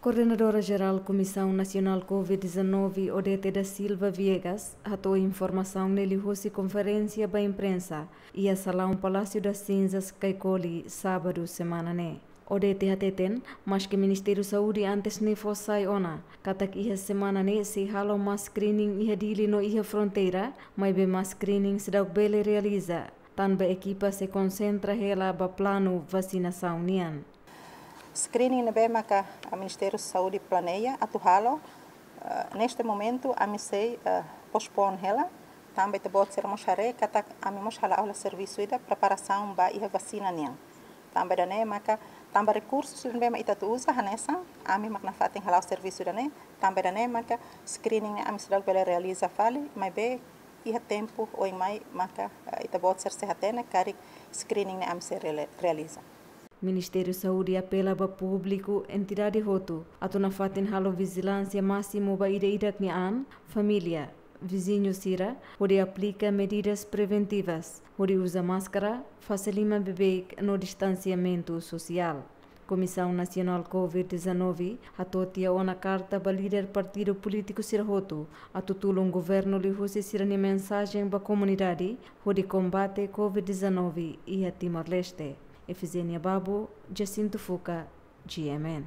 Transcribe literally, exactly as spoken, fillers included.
Koordenadora Jerál Komisaun Nasionál Covid dezanove, Odete da Silva Viegas, hato'o informasaun ne'e liuhusi konferénsia ba imprensa iha salaun Palácio das Cinzas, Caicoli, sábadu semana ne'e. Odete hateten, maske Ministériu Saúde antes ne'e fó sai ona katak iha semana ne'e sei halo mass screening iha Dili no iha fronteira, maibé mass screening seidauk bele realiza, tanba ekipa sei konsentra hela ba planu vasinasaun nian. Screening ne'ebé maka Ministériu Saúde planeia atu halo, eh, neste momentu ami sei, eh, postpone hela, tanba ita-boot sira mós haree katak ami mós hala'o hela servisu ida preparasaun ba iha vasina nian. Tanba ida-ne'e maka, tanba rekursus ne'ebé mak ita atu uza hanesan, ami mak nafatin hala'o servisu ida-ne'e, tanba ida-ne'e maka screening ne'e ami seidauk bele realiza fali, maibé iha tempu oin mai maka, eh, ita-boot sira sei hatene karik screening ne'e ami sei rele-, realiza. Ministériu Saúde apela ba públiku, entidade hotu atu nafatin halo vijilánsia másimu ba ida-idak nia an, família, viziñu sira, hodi aplika medidas preventivas, hodi uza máskara, fase liman beibeik no distansiamentu sosiál. Komisaun Nasionál Covid dezanove hato'o tiha ona karta ba líder partidu polítiku sira hotu atu tulun governu liuhusi sira-nia mensajen ba komunidade hodi kombate Covid dezanove iha Timor-Leste. Efizénia Babo, Jacinto Fuca, G M N.